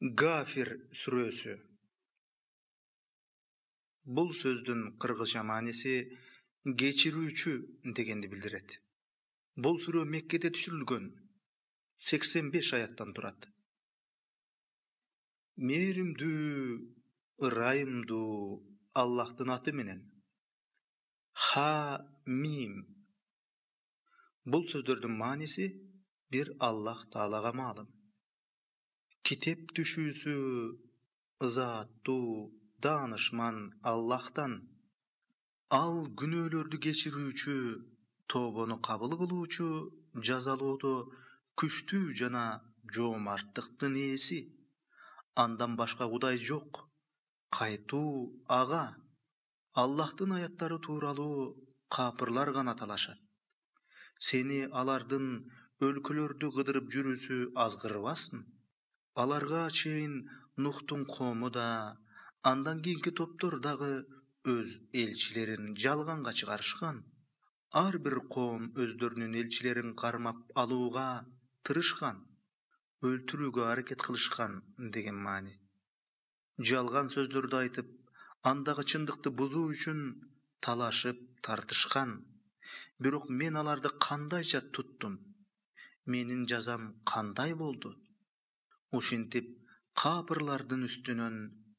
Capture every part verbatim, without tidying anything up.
Гафир сүрөсү. Бул сөздүн кыргызча мааниси кечирүүчү дегенди билдирет. Бул сүрө Меккеде түшүрүлгөн, сексен беш аяттан турат. Мээримдүү, ырайымдуу Аллахтын аты менен. Ха мим. Бул сөздөрдүн мааниси бир Аллах Таалага маалым. Китеп түшүүсү ызаттуу, даанышман Аллахтан. Ал күнөөлөрдү кечирүүчү, тобону кабыл кылуучу, жазалоодо күчтүү жана жоомарттыктын ээси. Андан башка Кудай жок. Кайтуу ага. Аллахтын аяттары тууралуу капырлар гана талашат. Сени алардын өлкөлөрдү кыдырып жүрүүсү азгырбасын. Аларга чейин Нухтун коому да, андан кийинки топтор дагы өз элчилерин жалганга чыгарышкан. Ар бир коом өздөрүнүн элчилерин кармап алууга тырышкан, өлтүрүүгө аракет кылышкан деген маани. Жалган сөздөрдү айтып, андагы чындыкты бузуу үчүн талашып тартышкан. Бирок мен аларды кандайча туттум? Менин жазам кандай болду? Ушинтип капырлардын үстүнөн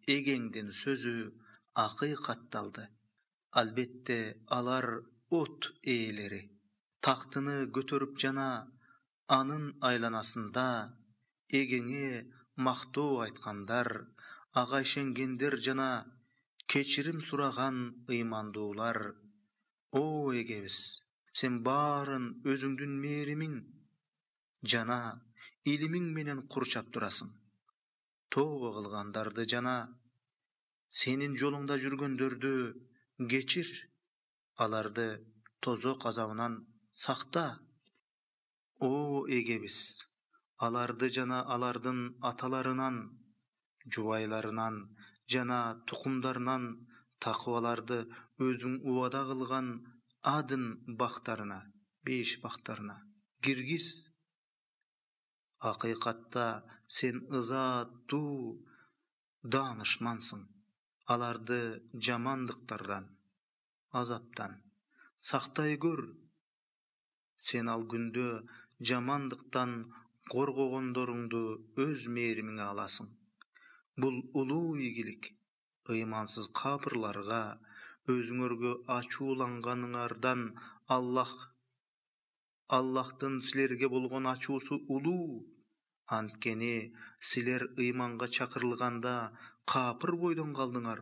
эгеңдин сөзү акыйкатталды. Албетте алар от ээлери. Тактыны көтөрүп жана анын айланасында эгеңе мактоо айткандар, ага ишенгендер жана кечирим сураган ыймандуулар. О эгебиз, сен баарын өзүңдүн мээримиң жана илимиң менен курчап турасың. Тобо кылгандарды жана сенин жолуңда жүргөндөрдү кечир, аларды тозок азабынан сакта. О эгебиз, аларды жана алардын аталарынан, жубайларынан жана тукумдарынан такыбаларды өзүң убада кылган Адын бактарына, беш бактарына киргиз. Акыйкатта сен ызаттуу, даанышмансың. Аларды жамандыктардан, азаптан сактай көр. Сен ал күндө жамандыктан коргогондоруңду өз мээримиңе аласың. Бул улуу ийгилик. Ыймансыз капырларга өзүңөргө ачууланганыңардан Аллах Аллахтын силерге болгон ачуусу улуу. Анткени силер ыйманга чакырылганда капыр бойдон калдыңар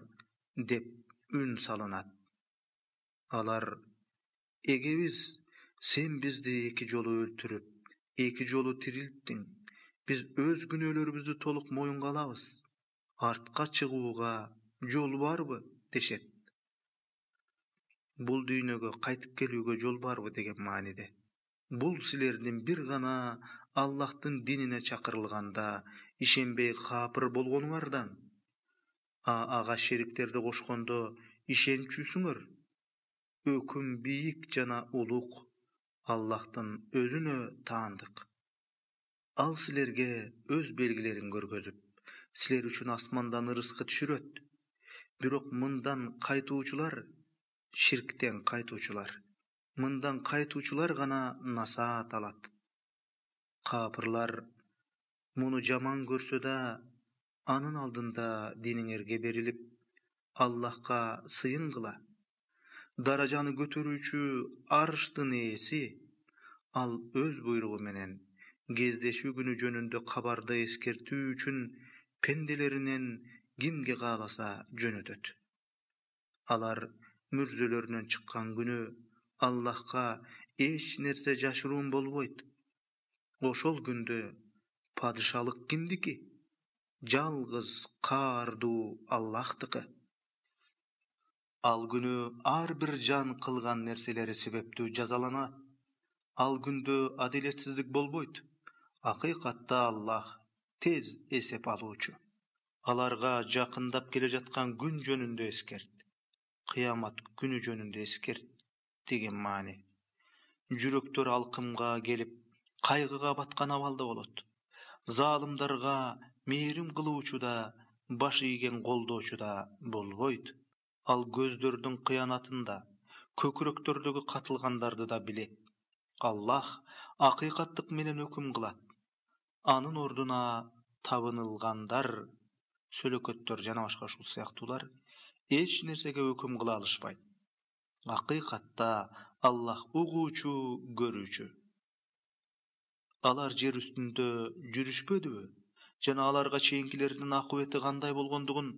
деп үн салынат. Алар: эгебиз, сен бизди эки жолу өлтүрүп, эки жолу тирилттиң. Биз өз күнөөлөрүбүздү толук моюнга алабыз. Артка чыгууга жол барбы? Дешет. Бул дүйнөгө кайтып келүүгө жол барбы деген мааниде. Бул силердин бир гана Аллахтын динине чакырылганда ишенбей капыр болгонуңардан, а ага шериктерди кошкондо ишенчүсүңөр. Өкүм бийик жана улук Аллахтын өзүнө таандык. Ал силерге өз белгилерин көргөзүп, силер үчүн асмандан ырыскы түшүрөт. Бирок мындан кайтуучулар, ширктен кайтуучулар, мындан кайтуучулар гана насаат алат. Капырлар муну жаман көрсө да, анын алдында диниңерге берилип, Аллахка сыйынгыла. Даражаны көтөрүүчү арыштын ээси, ал өз буйругу менен кездешүү күнү жөнүндө кабарды эскертүү үчүн пенделеринен кимге кааласа жөнөтөт. Алар мүрзөлөрүнөн чыккан күнү Аллахка эч нерсе жашыруун болбойт. Ошол күндө падышалык кимдики? Жалгыз каардуу Аллахтыкы. Ал күнү ар бир жан кылган нерселери себептүү жазаланат. Ал күндө адилетсиздик болбойт. Акыйкатта Аллах тез эсеп алуучу. Аларга жакындап келе жаткан күн жөнүндө эскерт. Кыямат күнү жөнүндө эскерт деген маани. Жүрөктөр алкымга келип, кайгыга баткан абалда болот. Залымдарга мээрим кылуучу да, баш ийген колдоочу да болбойт. Ал көздөрдүн кыянатында, көкүрөктөрдөгү катылгандарды да билет. Аллах акыйкаттык менен өкүм кылат. Анын ордуна табынылгандар, сөлөкөттөр жана башка ушул сыяктуулар эч нерсеге өкүм кыла алышпайт. Акыйкатта Аллах угуучу, көрүүчү. Алар жер үстүндө жүрүшпөдүбү? Жана аларга чейинкилердин акыбети кандай болгондугун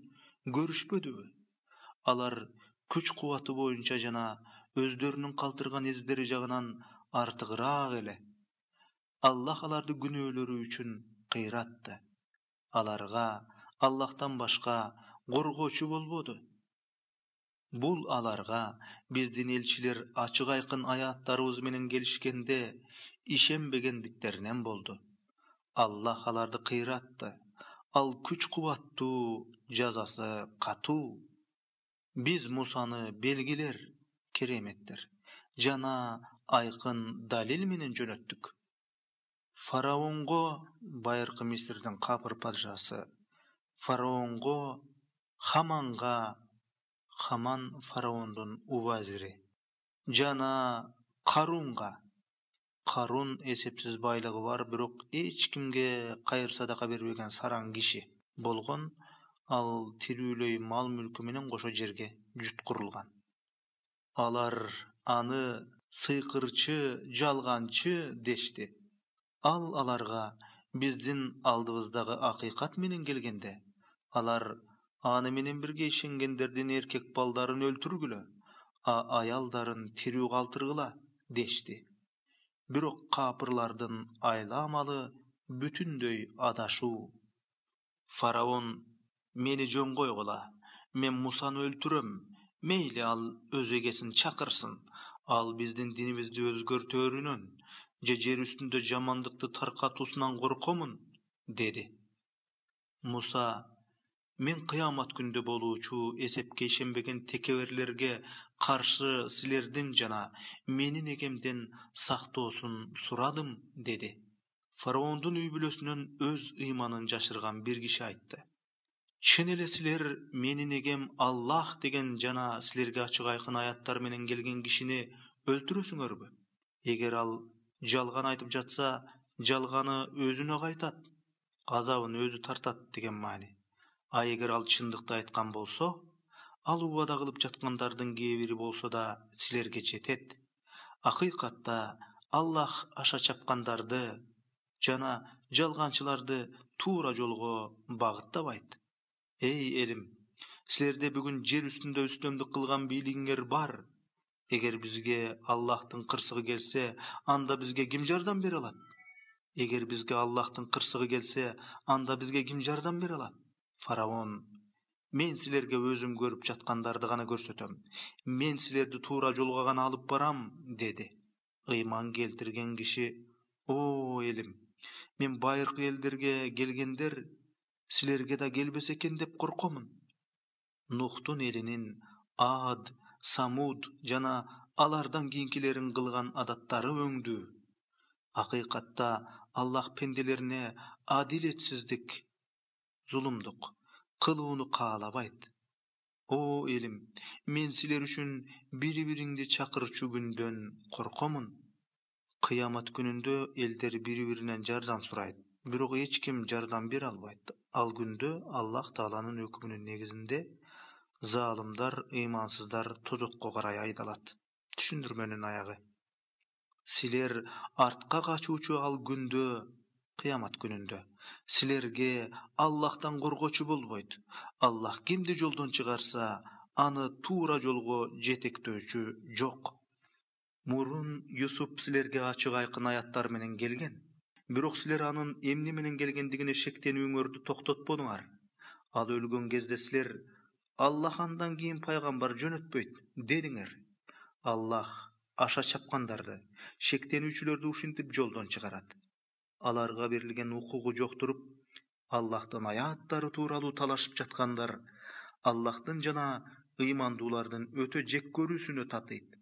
көрүшпөдүбү? Алар күч-кубаты боюнча жана өздөрүнүн калтырган эздери жагынан артыгыраак эле. Аллах аларды күнөөлөрү үчүн кыйратты. Аларга Аллахтан башка коргоочу болбоду. Бул аларга биздин элчилер ачык айкын аяттарыбыз менен келишкенде ишенбегендиктеринен болду. Аллах аларды кыйратты. Ал күч-кубаттуу, жазасы катуу. Биз Мусаны белгилер, кереметтер жана айкын далил менен жөнөттүк. Фараонго, байыркы Мисирдин капыр падышасы, Фараонго, Хаманга, Хаман фараондун увазири, жана Карунга. Карун эсепсиз байлыгы бар, бирок эч кимге кайыр садака бербеген сараң киши болгон. Ал тирүүлөй мал мүлкү менен кошо жерге жуткурулган. Алар аны сыйкырчы, жалганчы дешти. Ал аларга биздин алдыбыздагы акыйкат менен келгенде, алар аны менен бирге ишенгендердин эркек балдарын өлтүргүлө, а аялдарын тирүү калтыргыла дешти. Бирок капырлардын айла-амалы бүтүндөй адашуу. Фараон: мени жөн койгула, мен Мусаны өлтүрөм, мейли ал өз эгесин чакырсын, ал биздин динибизди өзгөртөөрүнөн же жер үстүндө жамандыкты таркатуусунан коркомун, деди. Муса: мен кыямат күндө болуучу эсепке ишенбеген текеберлерге каршы силердин жана менин эгемден сактоосун сурадым, деди. Фараондун үй бүлөсүнөн өз ыйманын жашырган бир киши айтты: чын эле силер менин эгем Аллах деген жана силерге ачык айкын аяттар менен келген кишини өлтүрөсүңөрбү? Эгер ал жалган айтып жатса, жалганы өзүнө кайтат, азабын өзү тартат деген маани. А эгер ал чындыкты айткан болсо, ал убада кылып жаткандардын кээ бири болсо да силерге жетет. Акыйкатта Аллах аша чапкандарды жана жалганчыларды туура жолго багыттабайт. Эй элим, силерде бүгүн жер үстүндө үстөмдүк кылган бийлигиңер бар. Эгер бизге Аллахтын кырсыгы келсе, анда бизге ким жардам бере алат? Эгер бизге Аллахтын кырсыгы келсе, анда бизге ким жардам бере алат? Фараон: мен силерге өзүм көрүп жаткандарды гана көрсөтөм. Мен силерди туура жолго гана алып барам, деди. Ыйман келтирген киши: о элим, мен байыркы элдерге келгендер силерге да келбесе экен деп коркомун. Нухтун элинин Ад, Самуд жана алардан кийинкилерин кылган адаттары өңдүү. Акыйкатта Аллах пенделерине адилетсиздик, зулумдук кылууну каалабайт. О элим, мен силер үчүн бири-бириңди чакырчу күндөн коркомун. Кыямат күнүндө элдер бири-биринен жардам сурайт, бирок эч ким жардам бере албайт. Ал күндө Аллах Тааланын өкүмүнүн негизинде залымдар, ыймансыздар тозокко карай айдалат. Түшүндүрмөнүн аягы. Силер артка качуучу ал күндө, кыямат күнүндө, силерге Аллахтан коргоочу болбойт. Аллах кимди жолдон чыгарса, аны туура жолго жетектөөчү жок. Мурун Юсуп силерге ачык айкын аяттар менен келген. Бирок силер анын эмне менен келгендигине шектенүүңөрдү токтотподуңар. Ал өлгөн кезде силер: Аллах андан кийин пайгамбар жөнөтпөйт, дедиңер. Аллах аша чапкандарды, шектенүүчүлөрдү ушинтип жолдон чыгарат. Аларга берилген укугу жоктуруп, Аллахтын аяттары тууралуу талашып жаткандар Аллахтын жана ыймандуулардын өтө жек көрүүсүнө татыйт.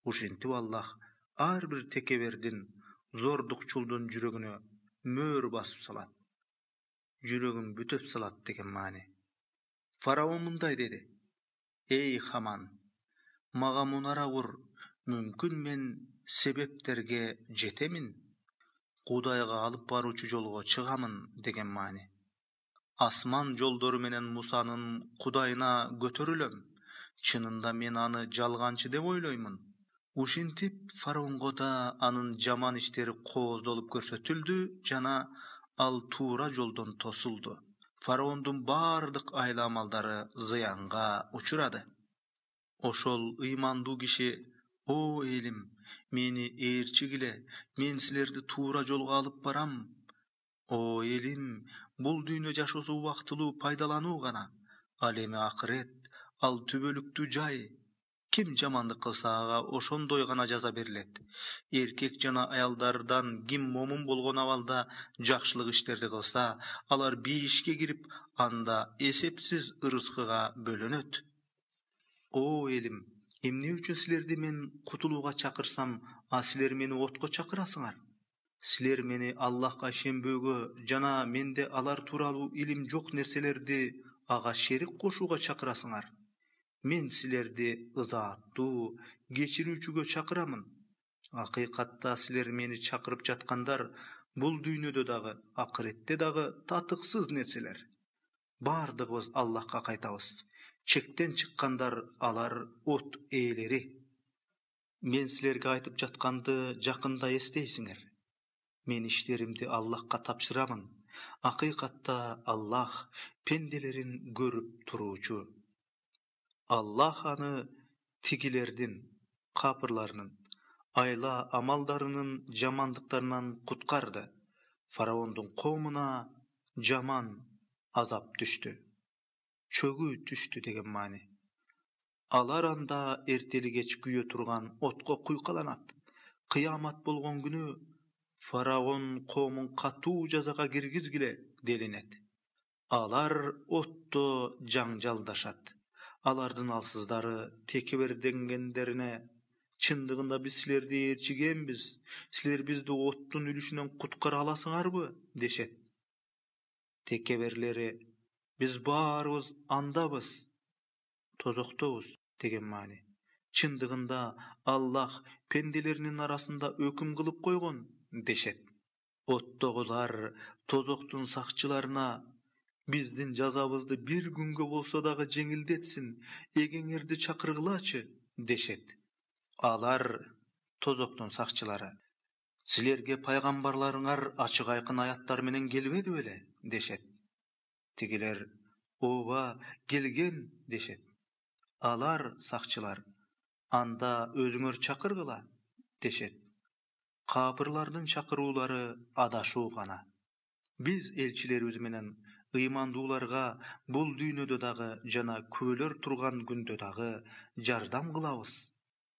Ушинтип Аллах ар бир текебердин, зордукчулдун жүрөгүнө мөөр басып салат. жүрөгүн бүтөп салат деген маани. Фараон мындай деди: Эй Хаман, мага мунара кур, мүмкүн мен себептерге жетемин, Кудайга алып баруучу жолго чыгамын деген маани. Асман жолдору менен Мусанын Кудайына көтөрүлөм. Чынында мен аны жалганчы деп ойлоймун. Ушинтип фараонго да анын жаман иштери кооздолуп көрсөтүлдү жана ал туура жолдон тосулду. Фараондун бардык айла амалдары зыянга учурады. Ошол ыймандуу киши: О элим, мени ээрчигиле, мен силерди туура жолго алып барам. О элим, бул дүйнө жашоосу убактылуу пайдалануу гана. Ал эми акырет, ал түбөлүктүү жай. Ким жамандык кылса ага ошондой гана жаза берилет. Эркек жана аялдардан ким момун болгон абалда жакшылык иштерди кылса, алар бейишке кирип, анда эсепсиз ырыскыга бөлөнөт. О элим, эмне үчүн силерди мен кутулууга чакырсам, а силер мени отко чакырасыңар? Силер мени Аллахка ишенбөөгө жана менде алар тууралуу илим жок нерселерди ага шерик кошууга чакырасыңар. Мен силерди ызааттуу, кечирүүчүгө чакырамын. Акыйкатта силер мени чакырып жаткандар бул дүйнөдө дагы, акыретте дагы татыксыз нерселер. Бардыгыбыз Аллахка кайтабыз. Чектен чыккандар алар от ээлери. Мен силерге айтып жатканды жакында эстейсиңер. Мен иштеримди Аллахка тапшырамын. Акыйкатта Аллах пенделерин көрүп туруучу. Аллах аны тигилердин, капырларынын, айла амалдарынын жамандыктарынан куткарды. Фараондун коомуна жаман азап түштү. Чөгүү түштү деген маани. Алар анда эртели кеч күйө турган отко куйкаланат. Кыямат болгон күнү Фараон коомун катуу жазага киргизгиле делинет. Алар отто жаңжалдашат. Алардын алсыздары текеберденгендерине: Чындыгында биз силерди ээрчигенбиз, силер бизди оттун үлүшүнөн куткара аласыңарбы? Дешет. Текеберлери: Биз баарыбыз андабыз, тозоктобуз деген маани. Чындыгында Аллах пенделеринин арасында өкүм кылып койгон дешет. Оттогулар тозоктун сакчыларына: Биздин жазабызды бир күнгө болсо дагы жеңилдетсин, эгеңерди чакыргылачы дешет. Алар, тозоктун сакчылары: Силерге пайгамбарларыңар ачык айкын аяттар менен келбеди беле дешет. Тигилер: Ооба, келген дешет. Алар, сакчылар: Анда өзүңөр чакыргыла дешет. Капырлардын чакыруулары адашуу гана. Биз элчилерибиз менен ыймандууларга бул дүйнөдө дагы жана күбөлөр турган күндө дагы жардам кылабыз.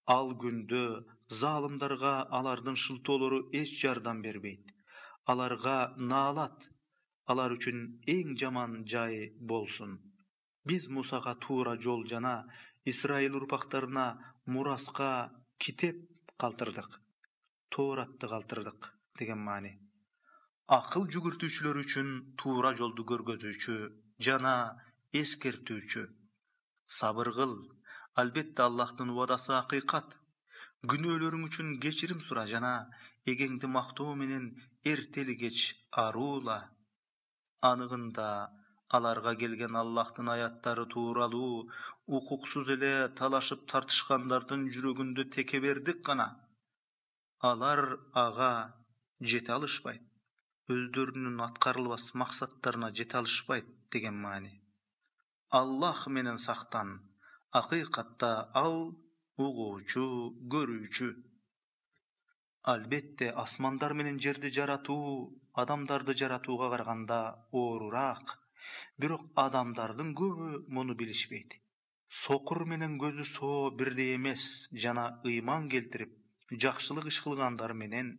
Ал күндө залымдарга алардын шылтоолору эч жардам бербейт. Аларга наалат, алар үчүн эң жаман жай болсун. Биз Мусага туура жол жана Исраил урпактарына мураска китеп калтырдык. Тооратты калтырдык деген маани. Акыл жүгүртүүчүлөр үчүн туура жолду көргөзүүчү жана эскертүүчү. Сабыр кыл, албетте Аллахтын убадасы акыйкат. Күнөөлөрүң үчүн кечирим сура жана эгеңди мактоо менен эртели кеч аруула. Аныгында аларга келген Аллахтын аяттары тууралуу укуксуз эле талашып тартышкандардын жүрөгүндө текебердик гана. Алар ага жете алышпайт. Өздөрүнүн аткарылбас максаттарына жете алышпайт деген маани. Аллах менен сактан. Акыйкатта ал угуучу, көрүүчү. Албетте асмандар менен жерди жаратуу адамдарды жаратууга караганда оорураак. Бирок адамдардын көбү муну билишпейт. Сокур менен көзү соо бирдей эмес жана ыйман келтирип, жакшылык иш кылгандар менен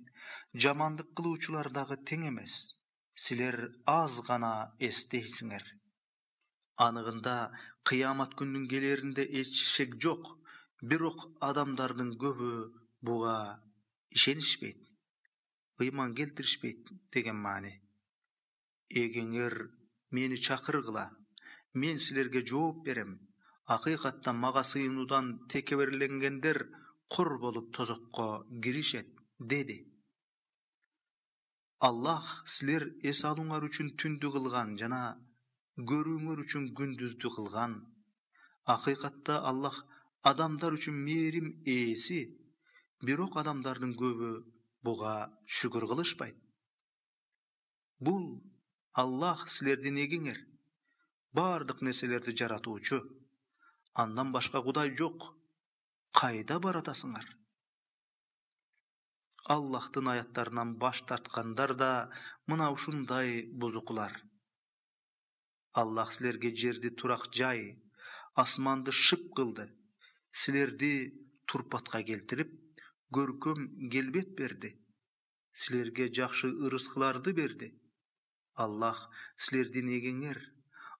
жамандык кылуучулар дагы тең эмес. Силер аз гана эстейсиңер. Аныгында кыямат күнүнүн келеринде эч шек жок. Бирок адамдардын көбү буга ишенишпейт, ыйман келтиришпейт деген маани. эгеңер мени чакыргыла, мен силерге жооп берем. Акыйкатта мага сыйынуудан текеберленгендер кур болуп тозокко киришет, деди. Аллах силер эс алууңар үчүн түндү кылган жана көрүүңөр үчүн күндүздү кылган. Акыйкатта Аллах адамдар үчүн мээрим ээси, бирок адамдардын көбү буга шүгүр кылышпайт. Бул Аллах силердин эгеңер, бардык нерселерди жаратуучу. Андан башка Кудай жок. Кайда баратасыңар? Аллахтын аяттарынан баш тарткандар да мына ушундай бузукулар. Аллах силерге жерди турак жай, асманды шып кылды. Силерди турпатка келтирип, көркөм келбет берди. Силерге жакшы ырыскыларды берди. Аллах силердин эгеңер,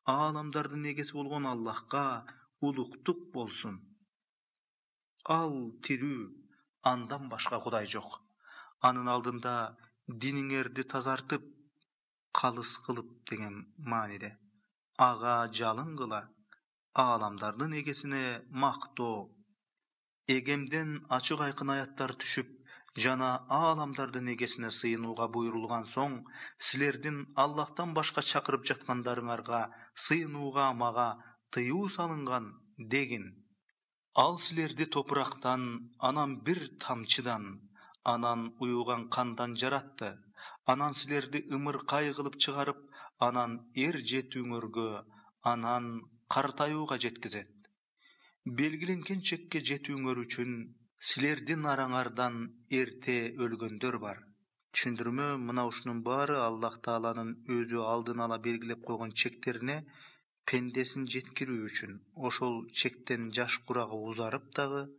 ааламдардын эгеси болгон Аллахка улуктук болсун. Ал тирүү, андан башка Кудай жок. Анын алдында диниңерди тазартып, калыс кылып деген мааниде. Ага жалынгыла, ааламдардын эгесине мактоо. Эгемден ачык айкын аяттар түшүп, жана ааламдардын эгесине сыйынууга буйрулган соң, силердин Аллахтан башка чакырып жаткандарыңарга сыйынууга мага тыюу салынган дегин. Ал силерди топурактан, анан бир тамчыдан, анан уюган кандан жаратты. Анан силерди ымыркай кылып чыгарып, анан эр жетүүңөргө, анан картаюуга жеткизет. Белгиленген чекке жетүүңөр үчүн силердин араңардан эрте өлгөндөр бар. Түшүндүрмө мына ушунун баары Аллах Тааланын өзү алдын ала белгилеп койгон чектерине пендесин жеткирүү үчүн. Ошол чектен жаш курагы узарып дагы,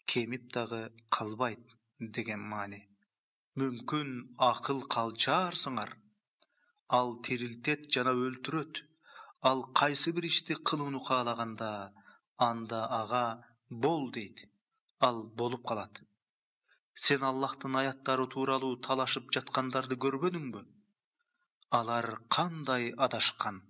кемип дагы калбайт деген маани. Мүмкүн акыл калчаарсыңар. Ал тирилтет жана өлтүрөт. Ал кайсы бир ишти кылууну каалаганда, анда ага бол дейт. Ал болуп калат. Сен Аллахтын аяттары тууралуу талашып жаткандарды көрбөдүңбү? Алар кандай адашкан.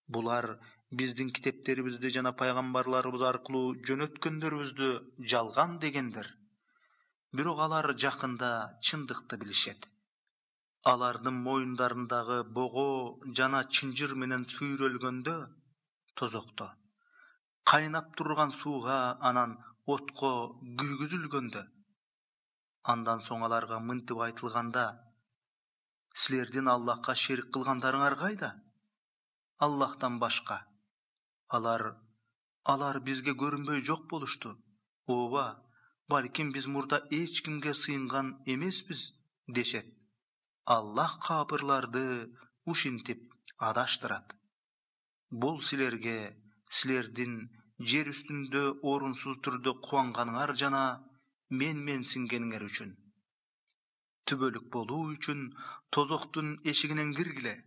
Булар биздин китептерибизди жана пайгамбарларыбыз аркылуу жөнөткөндөрүбүздү жалган дегендер. Бирок алар жакында чындыкты билишет. Алардын моюндарындагы бого жана чынжыр менен сүйрөлгөндө, тозокто, кайнап турган сууга, анан отко күйгүзүлгөндө. Андан соң аларга мынтип айтылганда, силердин Аллахка шерик кылгандарыңар кайда? Аллахтан башка. Алар, алар бизге көрүнбөй жок болушту. Ооба, балким биз мурда эч кимге сыйынган эмеспиз, дешет. Аллах капырларды ушинтип адаштырат. Бул силерге, силердин жер үстүндө орунсуз түрдө кубанганыңар жана мен-менсингениңер үчүн. Түбөлүк болуу үчүн тозоктун эшигинен киргиле.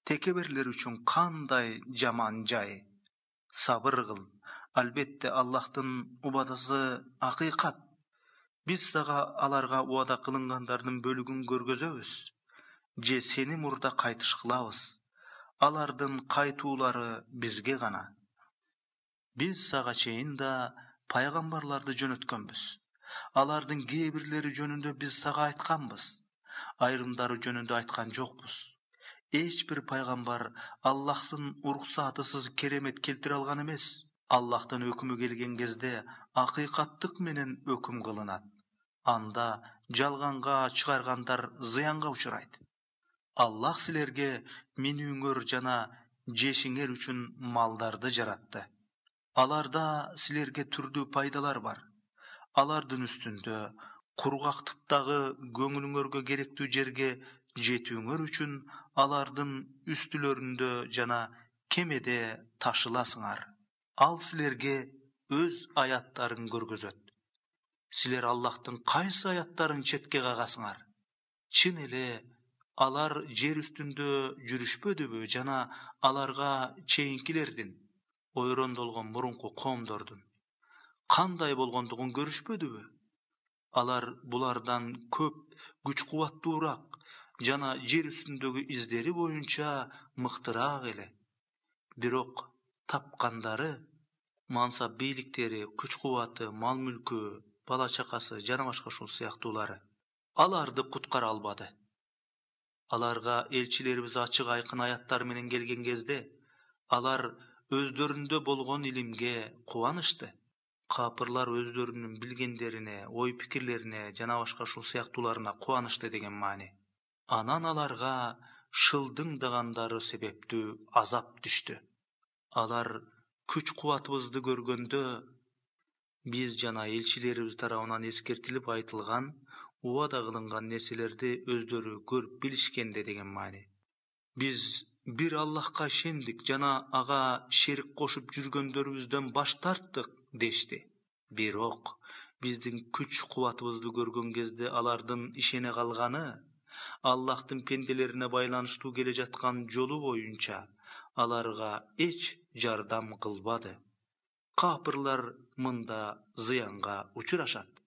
Текеберлер үчүн кандай жаман жай. Сабыр кыл. Албетте Аллахтын убадасы акыйкат. Биз сага аларга убада кылынгандардын бөлүгүн көргөзөбүз. Же сени мурда кайтыш кылабыз. Алардын кайтуулары бизге гана. Биз сага чейин да пайгамбарларды жөнөткөнбүз. Алардын кээ бирлери жөнүндө биз сага айтканбыз. Айрымдары жөнүндө айткан жокпуз. Эч бир пайгамбар Аллахтын уруксатысыз керемет келтире алган эмес. Аллахтын өкүмү келген кезде акыйкаттык менен өкүм кылынат. Анда жалганга чыгаргандар зыянга учурайт. Аллах силерге минүүңөр жана жешиңер үчүн малдарды жаратты. Аларда силерге түрдүү пайдалар бар. Алардын үстүндө кургактыктагы көңүлүңөргө керектүү жерге жетүүңөр үчүн алардын үстүлөрүндө жана кемеде ташыласыңар. Ал силерге өз аяттарын көргөзөт. Силер Аллахтын кайсы аяттарын четке кагасыңар? Чын эле алар жер үстүндө жүрүшпөдүбү жана аларга чейинкилердин, ойрондолгон мурунку коомдордун кандай болгондугун көрүшпөдүбү? Алар булардан көп күч кубаттуураак жана жер үстүндөгү издери боюнча мыктыраак эле. Бирок тапкандары, мансап бийликтери, күч-кубаты, мал-мүлкү, бала-чакасы жана башка ушул сыяктуулары аларды куткара албады. Аларга элчилерибиз ачык айкын аяттар менен келген кезде, алар өздөрүндө болгон илимге кубанышты. Капырлар өздөрүнүн билгендерине, ой-пикирлерине жана башка ушул сыяктууларына кубанышты деген маани. Анан аларга шылдыңдагандары себептүү азап түштү. Алар күч-кубатыбызды көргөндө, биз жана элчилерибиз тарабынан эскертилип айтылган, убада кылынган нерселерди өздөрү көрүп билишкенде деген маани. Биз бир Аллахка ишендик жана ага шерик кошуп жүргөндөрүбүздөн баш тарттык дешти. Бирок биздин күч-кубатыбызды көргөн кезде алардын ишене калганы, Аллахтын пенделерине байланыштуу келе жаткан жолу боюнча аларга эч жардам кылбады. Капырлар мында зыянга учурашат.